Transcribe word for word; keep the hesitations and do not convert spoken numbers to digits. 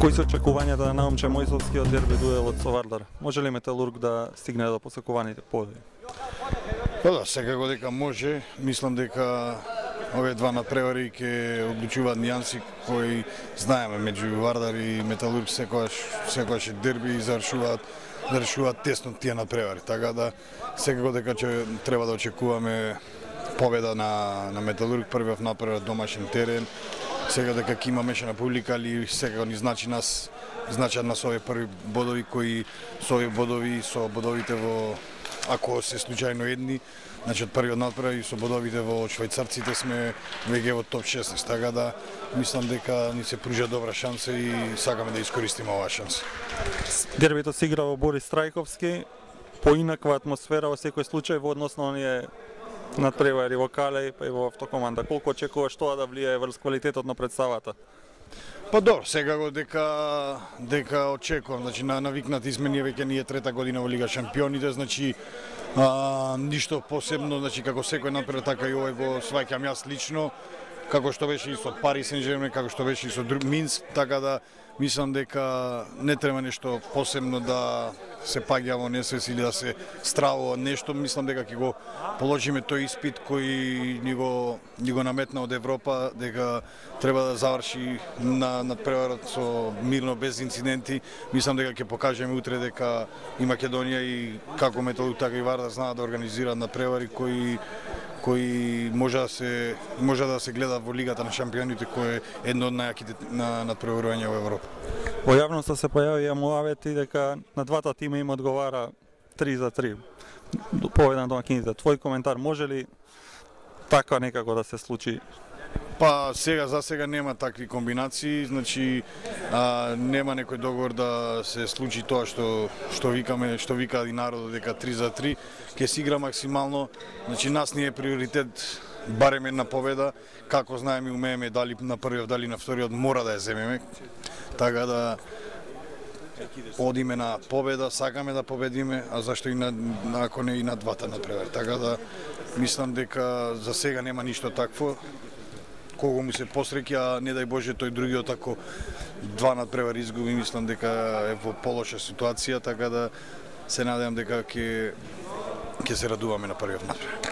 Кои се очекувањата на момче Мојсовскиот дерби дуелот со Вардар? Може ли Металург да стигне до посекуваните победи? Па да, секако дека може. Мислам дека овие два надпревари ќе одлучуваат нијанси кои знаеме меѓу Вардар и Металург, секогаш секогаш е дерби и завршуваат да решуваат тесно тие надпревари. Така да секако дека ќе треба да очекуваме победа на на Металург, првиот надпревар домашен терен. Сега дека ќе има мешана публика, али секако ни значи нас значат нас овие први бодови кои со овие бодови со бодовите во ако се случајно едни, значи од првиот надпревар и со бодовите во швајцарците сме веќе во топ шеснаесет, така да мислам дека ни се пружа добра шанса и сакаме да искористиме оваа шанса. Дербито се игра во Борис Трајковски, поинаква атмосфера во секој случај во однос на оние надпревари во Калеј па и во Автокоманда. Колку очекуваш тоа да влијае врз квалитетот на представата? Па добро, секако дека дека очекувам, значи на навикнати сме ние веќе ние трета година во Лига Шампионите, значи а, ништо посебно, значи како секој надпревар така и овој го сваќам јас лично, како што беше и со Пари Сен-Жермен, како што беше и со Минск, така да мислам дека не треба нешто посебно да се паѓа во несвес или да се стравува нешто, мислам дека ќе го положиме тој испит кој ни го ни го наметна од Европа, дека треба да заврши на надпреварот со мирно без инциденти. Мислам дека ќе покажеме утре дека и Македонија и како Металург така и Вардар знаат да организираат надпревари кои кои може да се може да се гледа во Лигата на шампионите, кој е едно од најаките на надпреварување во Европа. Во јавноста се појавија муавети дека на двата тима им одговара три за три. Победа на домакините. Твој коментар, може ли така некако да се случи? Па сега за сега нема такви комбинации, значи а, нема некој договор да се случи тоа што што викаме, што вика и народот дека три за три, ќе се игра максимално, значи нас ни е приоритет барем една победа, како знаеме и умееме дали на првиот, дали на вториот мора да ја земеме. Така да одиме на победа, сакаме да победиме, а зашто и на, ако не и на двата надпревари. Така да мислам дека за сега нема ништо такво. Кого му се посреќа, а не дај Боже тој другиот ако два надпревари изгуби, мислам дека е во полоша ситуација, така да се надевам дека ќе ќе се радуваме на првиот надпревар.